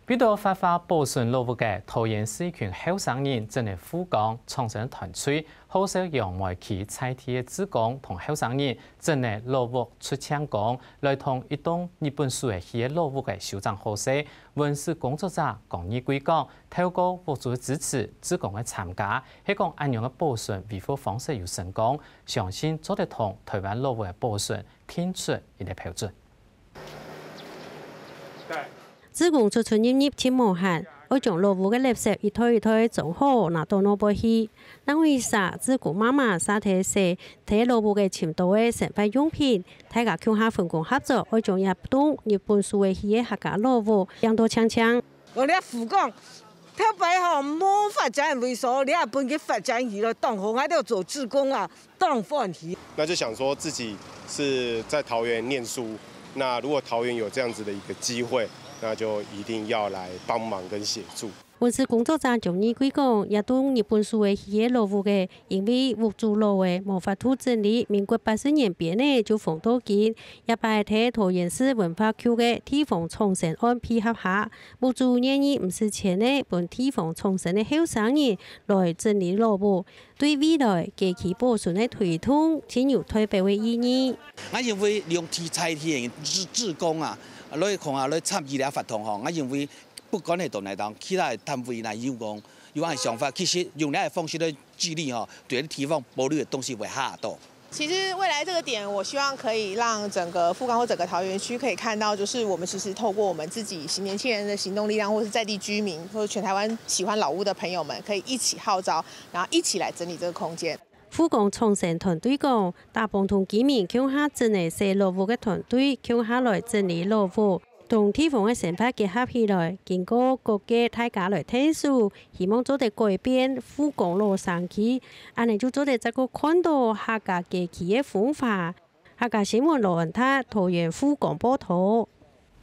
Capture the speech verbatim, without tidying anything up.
為著活化保存老屋个桃園市一群後生人，整理護崗、創生團隊，號召楊梅區在地个志工同後生人整理老屋出淨光，來同一棟日本手繪个老屋个修整好勢。文史工作者江義貴講，透過屋主个支持、志工个參加，係講恁樣个保存維護方式有成功，相信做得同台灣老屋个保存定出一個標準。 志工出出入入盡無閒，愛將老屋个垃圾一袋一袋裝好，拿到外背去。另外一儕志工媽媽續提洗忒老屋个盡多个生活用品，大家共下分工合作，愛將這棟日本手繪个客家老屋整到淨淨。𠊎這護崗頭擺吼無發展位所，這下分佢發展起來，當好，𠊎兜做志工啊，當歡喜。那就想說自己是在桃園念書，那如果桃園有這樣子的一個機會，那就一定要來幫忙跟協助。文史工作者江義貴講，這棟日本手繪个老屋个，因為屋主老了，無法度整理，民國八十年邊仔就封到今。這擺在桃園市文化局个地方創生案配合下，屋主願意毋使錢仔，分地方創生个後生人來整理老屋。 對未來街區保存个推動，盡有代表个意義。𠊎認為兩地在地个志、志工啊，來講啊，來參與這活動吼，𠊎認為不管係到哪檔，其他个單位來有講有恁个想法，其實用這个方式來治理吼，對地方保留个東西會較多。 其實未來這個點，我希望可以讓整個富岡或整個桃園區可以看到，就是我們其實透過我們自己年輕人的行動力量，或是在地居民，或者全台灣喜歡老屋的朋友們，可以一起號召，然後一起來整理這個空間。富岡創生團隊講，打幫同居民共下整理細老屋个團隊，共下來整理老屋。 同地方个生活結合起來，經過各界大家來𢯭手，希望做得改變富岡老城區，恁仔就做得再過看著客家街區个風華。客家新聞羅恩達，桃園富岡報導。